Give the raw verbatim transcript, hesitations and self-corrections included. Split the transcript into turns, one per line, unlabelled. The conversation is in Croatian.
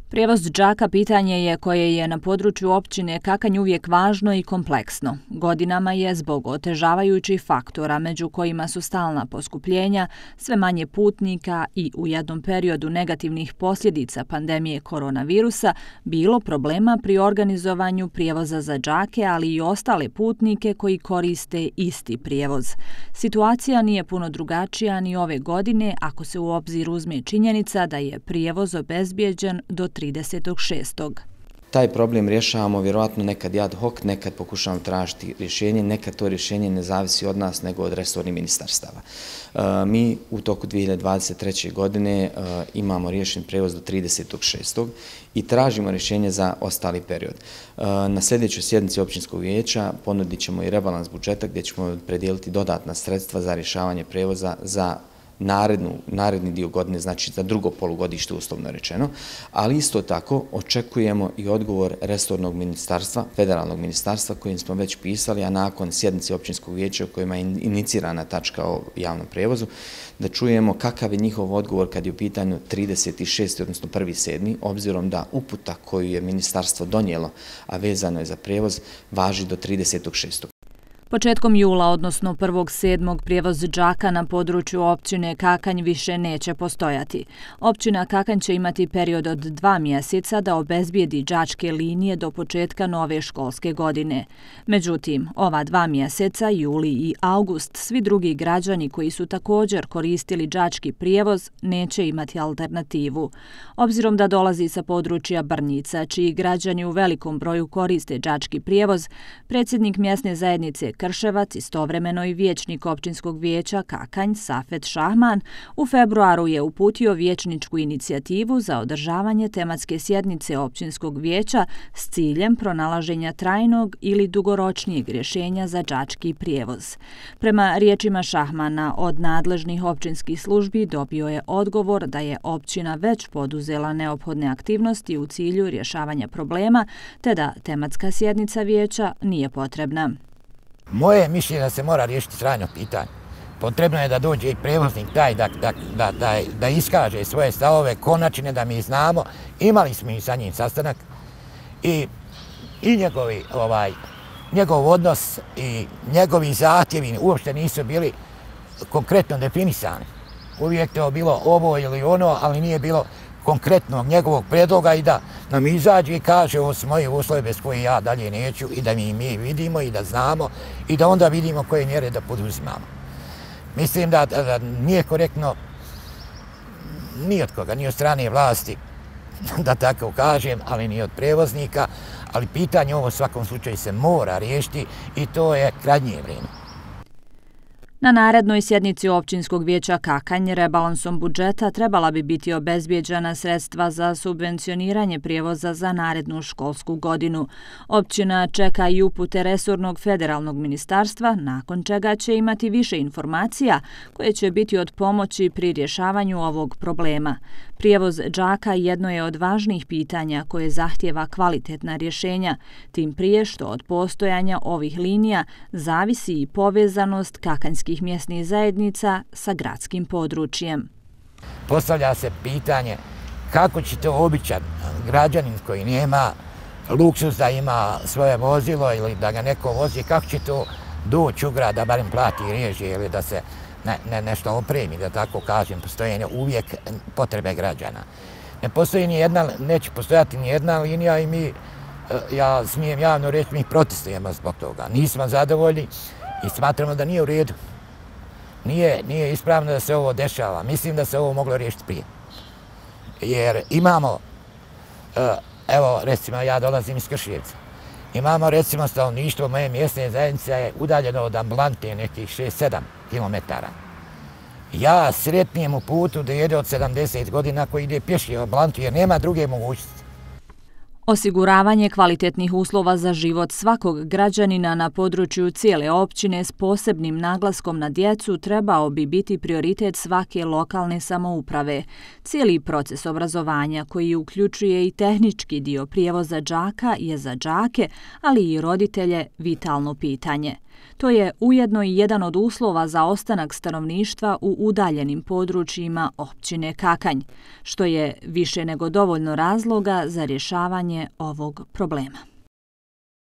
Prijevoz đaka pitanje je koje je na području općine Kakanj uvijek važno i kompleksno. Godinama je zbog otežavajućih faktora, među kojima su stalna poskupljenja, sve manje putnika i u jednom periodu negativnih posljedica pandemije koronavirusa, bilo problema pri organizovanju prijevoza za đake, ali i ostale putnike koji koriste isti prijevoz. Situacija nije puno drugačija ni ove godine ako se u obzir uzme činjenica da je prijevoz obezbijeđen do tridesetog šestog
Taj problem rješavamo vjerojatno nekad ad hoc, nekad pokušavamo tražiti rješenje, nekad to rješenje ne zavisi od nas nego od resornih ministarstava. E, mi u toku dvije hiljade dvadeset treće godine e, imamo riješen prijevoz do tridesetog šestog i tražimo rješenje za ostali period. E, na sljedećoj sjednici općinskog vijeća ponudit ćemo i rebalans budžeta gdje ćemo predijeliti dodatna sredstva za rješavanje prijevoza za Narednu, naredni dio godine, znači za drugo polugodište uslovno rečeno, ali isto tako očekujemo i odgovor resornog ministarstva, federalnog ministarstva kojim smo već pisali, a nakon sjednice općinskog vijeća u kojima je inicirana tačka o javnom prijevozu, da čujemo kakav je njihov odgovor kad je u pitanju trideset šesti odnosno prvi sedmi obzirom da uputa koju je ministarstvo donijelo, a vezano je za prijevoz, važi do tridesetog šestog
Početkom jula, odnosno prvog sedmog prijevoz đaka na području općine Kakanj više neće postojati. Općina Kakanj će imati period od dva mjeseca da obezbijedi đačke linije do početka nove školske godine. Međutim, ova dva mjeseca, juli i august, svi drugi građani koji su također koristili đački prijevoz neće imati alternativu. Obzirom da dolazi sa područja Brnjica, čiji građani u velikom broju koriste đački prijevoz, predsjednik mjesne zajednice Krševac, istovremeno i vijećnik općinskog vijeća Kakanj, Safet Šahman, u februaru je uputio vijećničku inicijativu za održavanje tematske sjednice općinskog vijeća s ciljem pronalaženja trajnog ili dugoročnijeg rješenja za đački prijevoz. Prema riječima Šahmana, od nadležnih općinskih službi dobio je odgovor da je općina već poduzela neophodne aktivnosti u cilju rješavanja problema, te da tematska sjednica vijeća nije potrebna.
Moje mišljenje da se mora riješiti trajno pitanje. Potrebno je da dođe i prevoznik taj da, da, da, da, da iskaže svoje stavove konačne, da mi znamo. Imali smo i sa njim sastanak i, i njegovi, ovaj, njegov odnos i njegovi zahtjevi uopšte nisu bili konkretno definisani. Uvijek to bilo ovo ili ono, ali nije bilo konkretnog njegovog predloga i da nam izađe i kaže ovo su moje uslove bez koje ja dalje neću i da mi mi vidimo i da znamo i da onda vidimo koje mjere da poduzimamo. Mislim da, da, da nije korektno ni od koga, ni od strane vlasti, da tako kažem, ali ni od prevoznika, ali pitanje ovo u svakom slučaju se mora riješiti i to je krajnje vrijeme.
Na narednoj sjednici općinskog vijeća Kakanj rebalansom budžeta trebala bi biti obezbijeđena sredstva za subvencioniranje prijevoza za narednu školsku godinu. Općina čeka i upute resornog federalnog ministarstva, nakon čega će imati više informacija koje će biti od pomoći pri rješavanju ovog problema. Prijevoz đaka jedno je od važnijih pitanja koje zahtjeva kvalitetna rješenja, tim prije što od postojanja ovih linija zavisi i povezanost kakanjskih mjesnih zajednica sa gradskim područjem.
Postavlja se pitanje kako će to običan građanin koji nema luksuz da ima svoje vozilo ili da ga neko vozi, kako će to doći u grad da barem plati režije ili da se ne, ne, nešto opremi, da tako kažem, postoje uvijek potrebe građana. Ne postoji ni jedna, neće postojati ni jedna linija i mi, ja smijem javno reći, mi protestujemo zbog toga. Nismo zadovoljni i smatramo da nije u redu. Nije, nije ispravno da se ovo dešava. Mislim da se ovo moglo riješiti prije. Jer imamo, evo recimo ja dolazim iz Krševca, imamo recimo stanovništvo moje mjesne zajednice je udaljeno od ambulante nekih šest sedam kilometara. Ja sretnijem u putu da jede od sedamdeset godina koji ide pješi u ambulantu jer nema druge mogućnosti.
Osiguravanje kvalitetnih uslova za život svakog građanina na području cijele općine s posebnim naglaskom na djecu trebao bi biti prioritet svake lokalne samouprave. Cijeli proces obrazovanja koji uključuje i tehnički dio prijevoza đaka je za đake, ali i roditelje vitalno pitanje. To je ujedno i jedan od uslova za ostanak stanovništva u udaljenim područjima općine Kakanj, što je više nego dovoljno razloga za rješavanje ovog problema.